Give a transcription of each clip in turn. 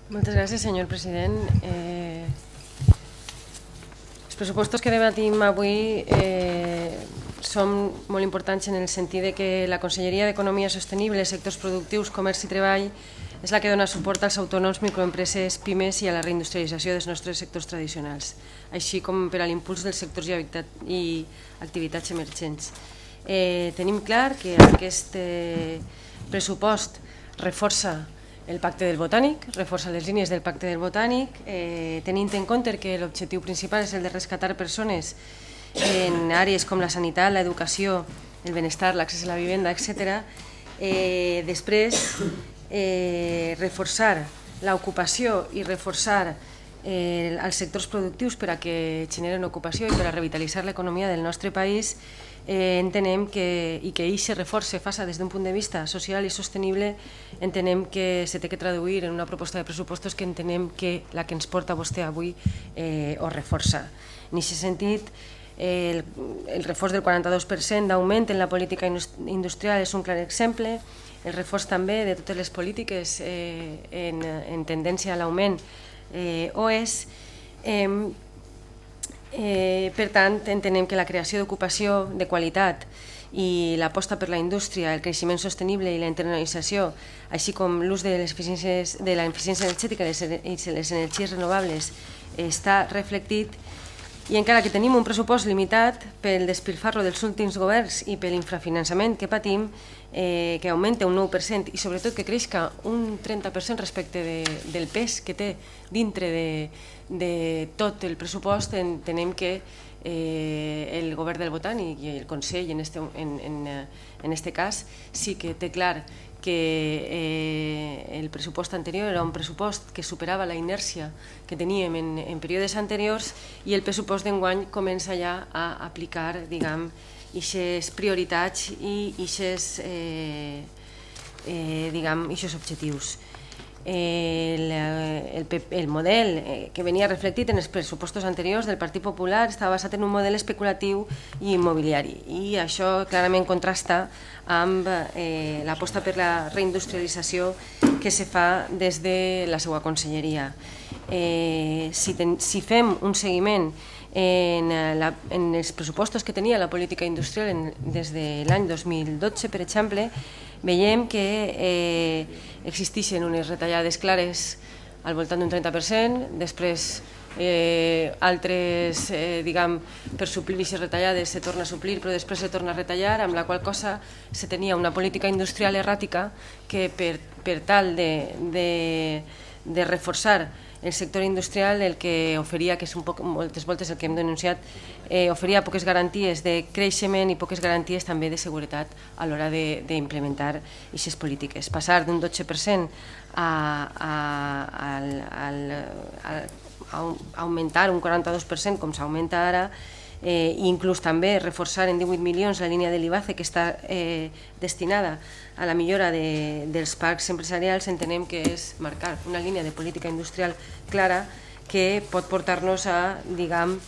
Moltes gràcies, senyor president. Els pressupostos que debatim avui són molt importants en el sentit de que la Conselleria d'Economia Sostenible, Sectors Productius, Comerç i Treball és la que dona suport als autònoms, microempreses, pimes i a la reindustrialització dels nostres sectors tradicionals, així com per a l'impuls dels sectors i activitats emergents. Tenim clar que aquest pressupost reforça el Pacte del Botànic, reforça les línies del Pacte del Botànic, tenint en compte que l'objectiu principal és el de rescatar persones en àrees com la sanitat, l'educació, el benestar, l'accés a la vivenda, etc. Després, reforçar l'ocupació i reforçar els sectors productius per a que generen ocupació i per a revitalitzar l'economia del nostre país. Entenem que, i que això reforç se faça des d'un punt de vista social i sostenible, entenem que se té que traduir en una proposta de pressupostos que entenem que la que ens porta vostè avui ho reforça. En aquest sentit, el reforç del 42% d'augment en la política industrial és un clar exemple, el reforç també de totes les polítiques en tendència a l'augment ho és. Per tant, entenem que la creació d'ocupació de qualitat i l'aposta per la indústria, el creixement sostenible i la internalització, així com l'ús de l'eficiència energètica i les energies renovables, està reflectit. I encara que tenim un pressupost limitat pel despilfarro dels últims governs i per l'infrafinançament que patim, que augmenta un 9% i sobretot que creixca un 30% respecte del pes que té dintre de tot el pressupost, entenem que el govern del Botànic i el Consell en aquest cas sí que té clar que el pressupost anterior era un pressupost que superava la inèrcia que teníem en períodes anteriors i el pressupost d'enguany comença ja a aplicar, diguem, aquestes prioritats i aquests objectius. El model que venia reflectit en els pressupostos anteriors del Partit Popular estava basat en un model especulatiu i immobiliari i això clarament contrasta amb l'aposta per la reindustrialització que se fa des de la seva conselleria. Si fem un seguiment en els pressupostos que tenia la política industrial des de l'any 2012, per exemple, veiem que existeixen unes retallades clares al voltant d'un 30%, després altres, diguem, per suplir aquestes retallades se torna a suplir però després se torna a retallar, amb la qual cosa se tenia una política industrial erràtica que per tal de reforçar el sector industrial el que oferia, que és moltes voltes el que hem denunciat, oferia poques garanties de creixement i poques garanties també de seguretat a l'hora d'implementar aquestes polítiques. Passar d'un 12% a augmentar un 42% com s'augmenta ara, i inclús també reforçar en 18 milions la línia de l'IBACE que està destinada a la millora dels parcs empresarials, entenem que és marcar una línia de política industrial clara que pot portar-nos a, diguem,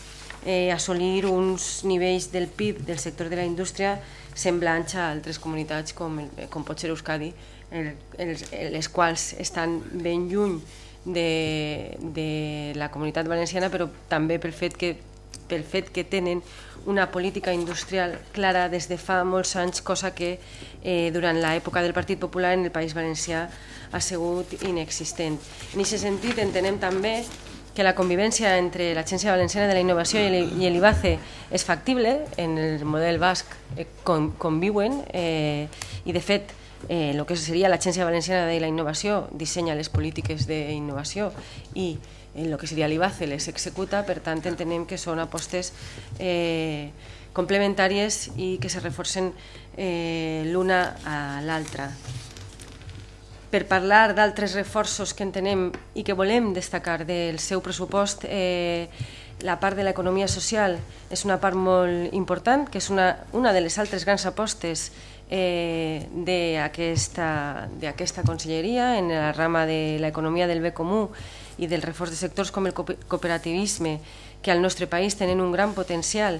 assolir uns nivells del PIB del sector de la indústria semblants a altres comunitats com pot ser Euskadi, les quals estan ben lluny de la comunitat valenciana, però també pel fet que tenen una política industrial clara des de fa molts anys, cosa que durant l'època del Partit Popular en el País Valencià ha sigut inexistent. En aquest sentit entenem també que la convivència entre l'Agència Valenciana de la Innovació i l'IBACE és factible, en el model basc conviuen i de fet el que seria l'Agència Valenciana de la Innovació dissenya les polítiques d'innovació i el que seria l'IBACE les executa, per tant entenem que són apostes complementàries i que se reforcen l'una a l'altra. Per parlar d'altres reforços que entenem i que volem destacar del seu pressupost, la part de l'economia social és una part molt important, que és una de les altres grans apostes d'aquesta conselleria en la rama de l'economia del bé comú i del reforç de sectors com el cooperativisme, que al nostre país tenen un gran potencial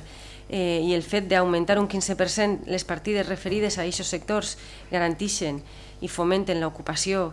i el fet d'augmentar un 15% les partides referides a aquests sectors garanteixen i fomenten l'ocupació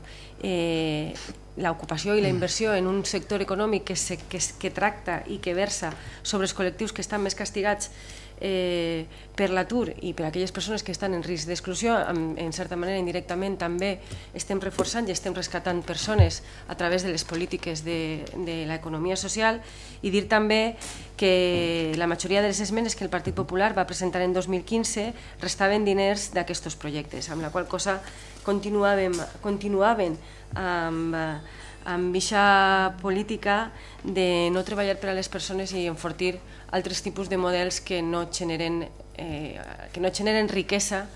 l'ocupació i la inversió en un sector econòmic que tracta i que versa sobre els col·lectius que estan més castigats per l'atur i per aquelles persones que estan en risc d'exclusió, en certa manera indirectament també estem reforçant i estem rescatant persones a través de les polítiques de l'economia social. I dir també que la majoria de les esmenes que el Partit Popular va presentar en 2015 restaven diners d'aquests projectes, amb la qual cosa continuaven amb aquesta política de no treballar per a les persones i enfortir altres tipus de models que no generen riquesa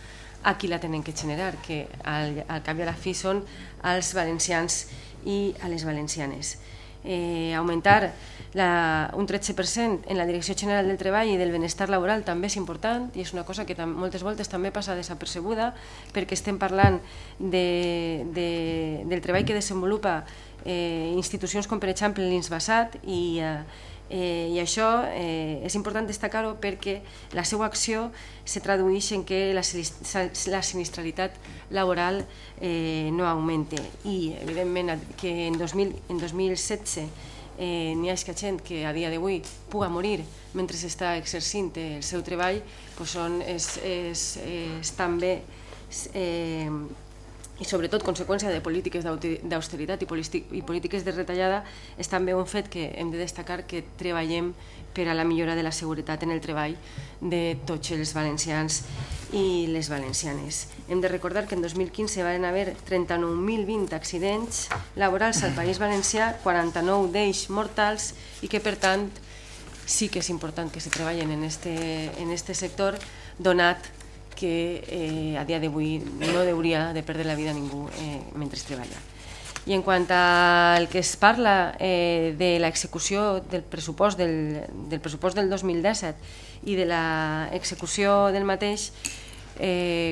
a qui la tenen que generar, que al cap i a la fi són els valencians i a les valencianes. Augmentar un 13% en la Direcció General del Treball i del Benestar Laboral també és important i és una cosa que moltes voltes també passa desapercebuda perquè estem parlant del treball que desenvolupa institucions com per exemple l'INSBASAT i això és important destacar-ho perquè la seva acció se tradueix en que la sinistralitat laboral no augmente i evidentment que en 2016 n'hi ha gent que a dia d'avui puga morir mentre està exercint el seu treball, és també i sobretot conseqüència de polítiques d'austeritat i polítiques de retallada, és també un fet que hem de destacar que treballem per a la millora de la seguretat en el treball de tots els valencians i les valencianes. Hem de recordar que en 2015 van haver 39.020 accidents laborals al País Valencià, 49 d'ells mortals, i que per tant sí que és important que se treballen en este sector, donat que a dia d'avui no hauria de perdre la vida ningú mentre treballa. I en quant al que es parla de l'execució del pressupost del 2017 i de l'execució del mateix,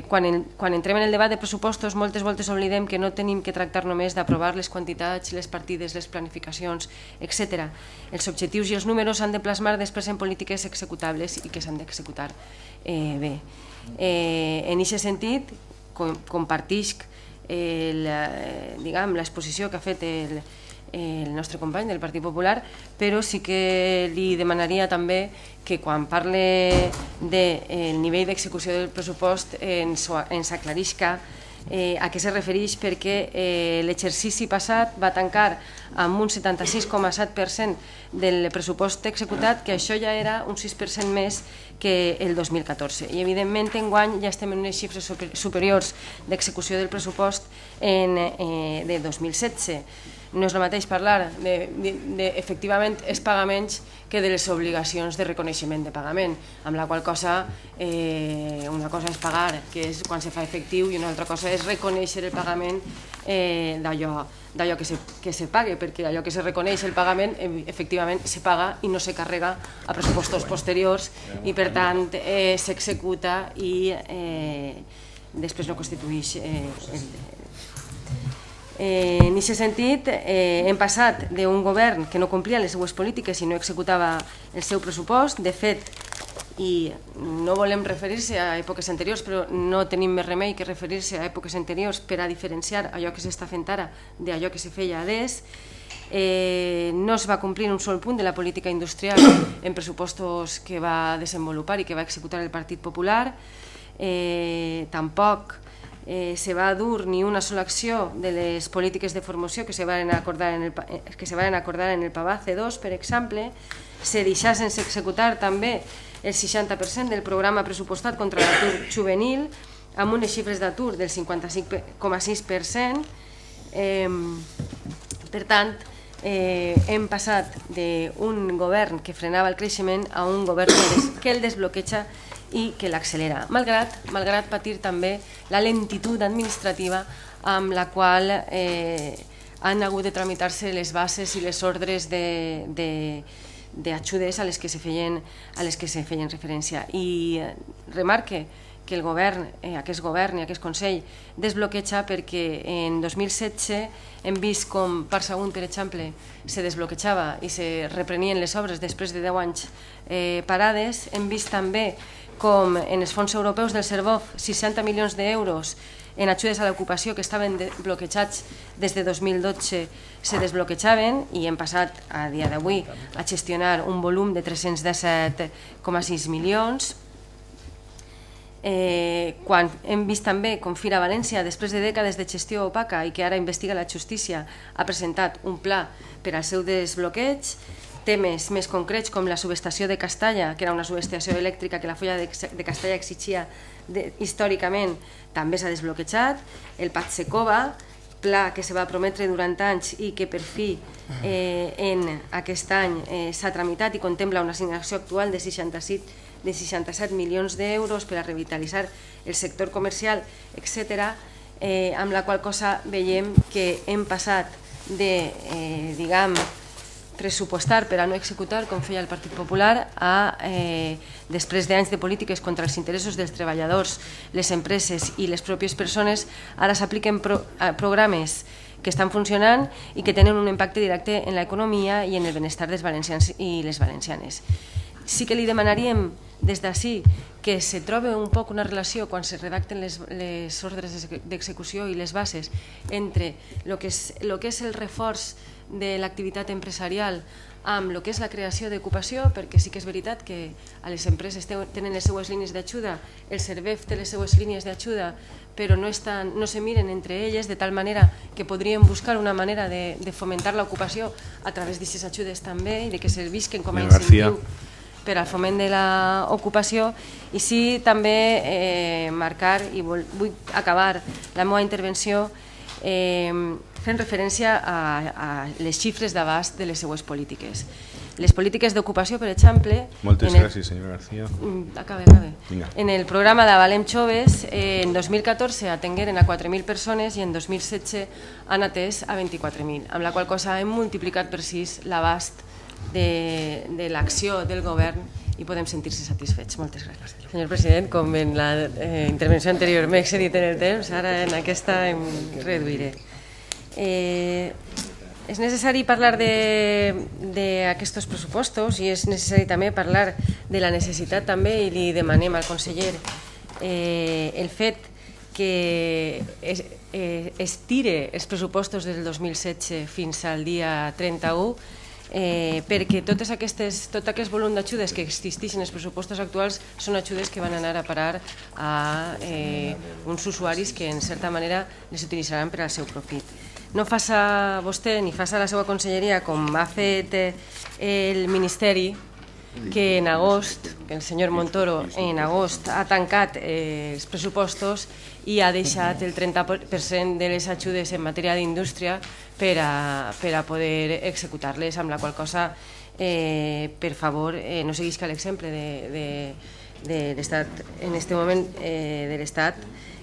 quan entrem en el debat de pressupostos moltes voltes oblidem que no tenim que tractar només d'aprovar les quantitats, les partides, les planificacions, etc. Els objectius i els números s'han de plasmar després en polítiques executables i que s'han d'executar bé. En aquest sentit, compartisc l'exposició que ha fet el nostre company del Partit Popular, però sí que li demanaria també que quan parle del nivell d'execució del pressupost ens aclarisca a què se refereix, perquè l'exercici passat va tancar amb un 76,7% del pressupost executat, que això ja era un 6% més que el 2014. I evidentment enguany ja estem en unes xifres superiors d'execució del pressupost de 2016. No és el mateix parlar d'efectivament els pagaments que de les obligacions de reconeixement de pagament, amb la qual cosa una cosa és pagar, que és quan se fa efectiu, i una altra cosa és reconèixer el pagament d'allò que se pague, perquè allò que se reconeix el pagament efectivament se paga i no se carrega a pressupostos posteriors i per tant s'executa i després no constitueix en aquest sentit, hem passat d'un govern que no complia les seues polítiques i no executava el seu pressupost. De fet, i no volem referir-se a èpoques anteriors, però no tenim més remei que referir-se a èpoques anteriors per a diferenciar allò que s'està fent ara d'allò que se feia adés. No es va complir un sol punt de la política industrial en pressupostos que va desenvolupar i que va executar el Partit Popular. Tampoc se va dur ni una sola acció de les polítiques de formació que se van acordar en el PAVA C2, per exemple. Se deixà sense executar també el 60% del programa pressupostat contra l'atur juvenil, amb unes xifres d'atur del 55,6%. Per tant, hem passat d'un govern que frenava el creixement a un govern que el desbloqueja i que l'accelera, malgrat patir també la lentitud administrativa amb la qual han hagut de tramitar-se les bases i les ordres d'ajudes a les que se feien referència. I remarque que el govern, aquest govern i aquest Consell desbloqueja perquè en 2016 hem vist com per segon, per exemple, se desbloquejava i se reprenien les obres després de 10 anys parades. Hem vist també com en els fons europeus del Servof 60 milions d'euros en ajudes a l'ocupació que estaven bloquejats des de 2012 se desbloquejaven i hem passat a dia d'avui a gestionar un volum de 317,6 milions. Quan hem vist també com Fira València, després de dècades de gestió opaca i que ara investiga la justícia, ha presentat un pla per al seu desbloqueig, temes més concrets com la subestació de Castalla, que era una subestació elèctrica que la Folla de Castalla exigia històricament, també s'ha desbloquejat. El Patsecova, pla que se va prometre durant anys i que per fi en aquest any s'ha tramitat i contempla una assignació actual de 67 milions d'euros per a revitalitzar el sector comercial, etc., amb la qual cosa veiem que hem passat de, diguem, pressupostar per a no executar, com feia el Partit Popular, després d'anys de polítiques contra els interessos dels treballadors, les empreses i les pròpies persones, ara s'apliquen programes que estan funcionant i que tenen un impacte directe en l'economia i en el benestar dels valencians i les valencianes. Sí que li demanaríem des d'ací que se trobi un poc una relació quan se redacten les ordres d'execució i les bases entre el que és el reforç de l'activitat empresarial amb el que és la creació d'ocupació, perquè sí que és veritat que a les empreses tenen les seues línies d'ajuda, el Servef té les seues línies d'ajuda, però no se miren entre elles, de tal manera que podríem buscar una manera de fomentar l'ocupació a través d'aquestes ajudes també i de que servisquen com a incentiu per al foment de l'ocupació. I sí també marcar, i vull acabar la meva intervenció fent referència a les xifres d'abast de les seues polítiques. Les polítiques d'ocupació, per exemple... Moltes gràcies, senyora García. Acabe. En el programa d'Avalem Joves, en 2014 atengueren a 4.000 persones i en 2016 han atès a 24.000, amb la qual cosa hem multiplicat per 6 l'abast de l'acció del govern i podem sentir-se satisfets. Moltes gràcies. Senyor president, com en la intervenció anterior m'he excedit en el temps, ara en aquesta em reduiré. És necessari parlar d'aquests pressupostos i és necessari també parlar de la necessitat també, i li demanem al conseller el fet que es tire els pressupostos del 2016 fins al dia 31, perquè tot aquest volum d'ajudes que existeixen en els pressupostos actuals són ajudes que van anar a parar a uns usuaris que en certa manera les utilitzaran per al seu profit. No faça vostè ni faça la seva conselleria com ha fet el Ministeri, que en agost, que el senyor Montoro en agost ha tancat els pressupostos i ha deixat el 30% de les ajudes en matèria d'indústria per a poder executar-les, amb la qual cosa, per favor, no seguisca l'exemple de l'Estat, en aquest moment de l'Estat,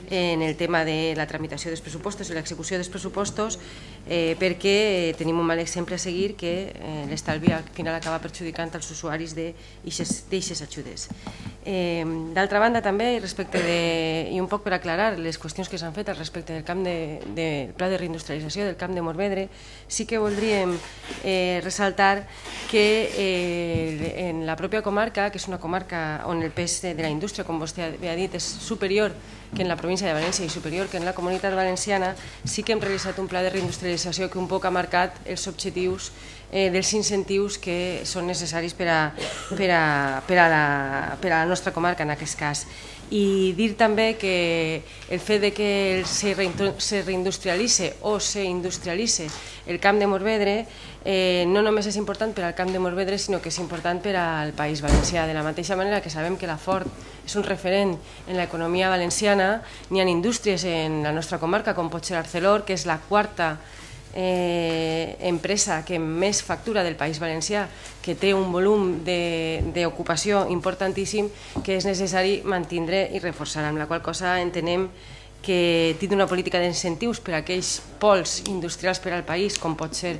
en el tema de la tramitació dels pressupostos i l'execució dels pressupostos, perquè tenim un mal exemple a seguir que l'estalvi al final acaba perjudicant els usuaris d'aixes ajudes. D'altra banda també, i un poc per aclarar les qüestions que s'han fet al respecte del pla de reindustrialització del Camp de Morvedre, sí que voldríem ressaltar que en la pròpia comarca, que és una comarca on el pes de la indústria, com vostè ha dit, és superior que en la província de València i superior que en la Comunitat Valenciana, sí que hem realitzat un pla de reindustrialització que un poc ha marcat els objectius dels incentius que són necessaris per a la nostra comarca en aquest cas. I dir també que el fet que se reindustrialitzi o s'industrialitzi el Camp de Morvedre no només és important per al Camp de Morvedre, sinó que és important per al País Valencià. De la mateixa manera que sabem que la Ford és un referent en l'economia valenciana, n'hi ha indústries en la nostra comarca, com pot ser Arcelor, que és la quarta empresa que més factura del País Valencià, que té un volum d'ocupació importantíssim que és necessari mantindre i reforçar, amb la qual cosa entenem que tindre una política d'incentius per a aquells pols industrials per al país, com pot ser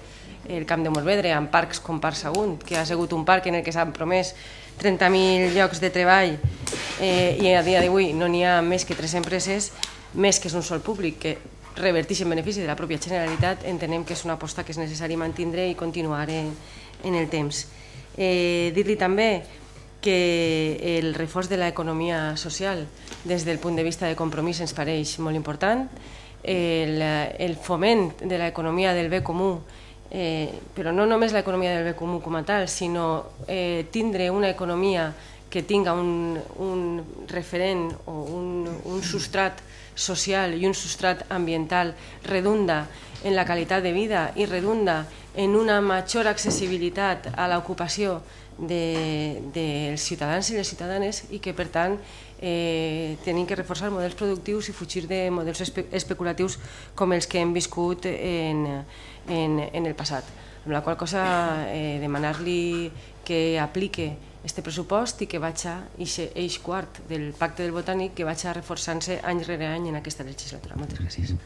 el Camp de Morvedre, amb parcs com Parc Sagunt, que ha sigut un parc en el que s'han promès 30.000 llocs de treball i a dia d'avui no n'hi ha més que 3 empreses, més que és un sol públic que reverteix en benefici de la pròpia Generalitat, entenem que és una aposta que és necessari mantindre i continuar en el temps. Dir-li també que el reforç de l'economia social des del punt de vista de compromís ens pareix molt important, el foment de l'economia del bé comú, però no només l'economia del bé comú com a tal, sinó tindre una economia que tinga un referent o un substrat social i un substrat ambiental redunda en la qualitat de vida i redunda en una major accessibilitat a l'ocupació dels ciutadans i les ciutadanes, i que per tant tenim que reforçar models productius i fugir de models especulatius com els que hem viscut en el passat. Amb la qual cosa demanar-li que aplique este pressupost i que vagi eix quart del Pacte del Botànic, que vagi reforçant-se any rere any en aquesta legislatura. Moltes gràcies.